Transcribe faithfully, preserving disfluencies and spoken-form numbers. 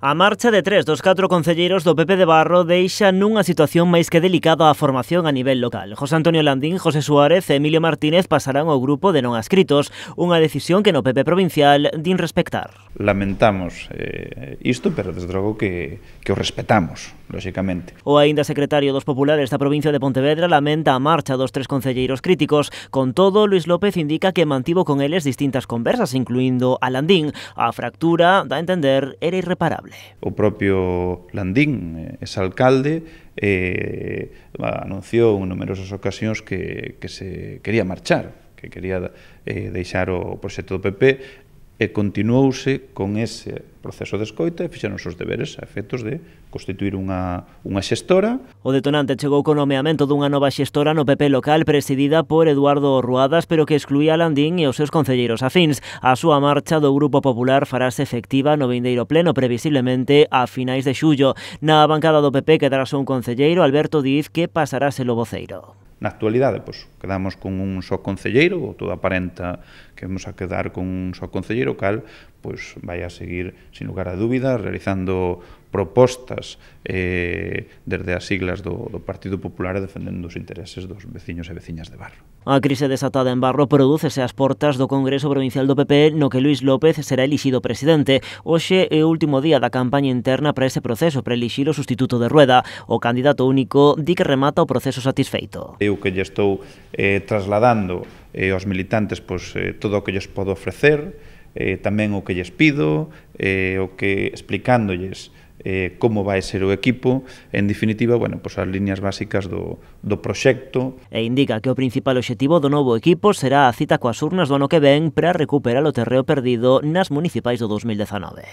A marcha de tres dos catro concelleiros do P P de Barro deixa nunha situación máis que delicada a formación a nivel local. José Antonio Landín, José Suárez e Emilio Martínez pasarán ao grupo de non adscritos, unha decisión que no P P provincial din respectar. Lamentamos eh, isto, pero desde logo que, que o respetamos, lóxicamente. O aínda secretario dos populares da provincia de Pontevedra lamenta a marcha dos tres concelleiros críticos. Con todo, Luís López indica que mantivo con eles distintas conversas, incluindo a Landín. A fractura, dá a entender, era irreparable. O propio Landín, ese alcalde, eh, anunciou en numerosas ocasións que, que se quería marchar, que quería eh, deixar o proxecto do P P, e continuouse con ese proceso de escoita e fixeron os seus deberes a efectos de constituir unha, unha xestora. O detonante chegou co nomeamento dunha nova xestora no P P local presidida por Eduardo Ruadas, pero que excluía a Landín e os seus concelleiros afíns. A súa marcha do Grupo Popular farase efectiva no vindeiro pleno, previsiblemente a finais de xullo. Na bancada do P P quedará só un concelleiro, Alberto Diz, que pasará a ser o voceiro. Na actualidade, pois, quedamos con un só concelleiro, ou todo aparenta que vamos a quedar con un só concelleiro, cal pois, vai a seguir, sin lugar a dúbida, realizando propostas eh, desde as siglas do, do Partido Popular e defendendo os intereses dos veciños e veciñas de Barro. A crise desatada en Barro prodúcese ás portas do Congreso Provincial do P P, no que Luís López será elixido presidente. Hoxe é o último día da campaña interna para ese proceso, para elixir o sustituto de Rueda. O candidato único di que remata o proceso satisfeito. Eu que lle estou eh, trasladando eh, aos militantes pois, eh, todo o que lles podo ofrecer, eh, tamén o que lles pido, eh, o que explicándolles eh, como vai ser o equipo, en definitiva, bueno, pois as líneas básicas do, do proxecto. E indica que o principal obxectivo do novo equipo será a cita coas urnas do ano que ven para recuperar o terreo perdido nas municipais do dos mil dezanove.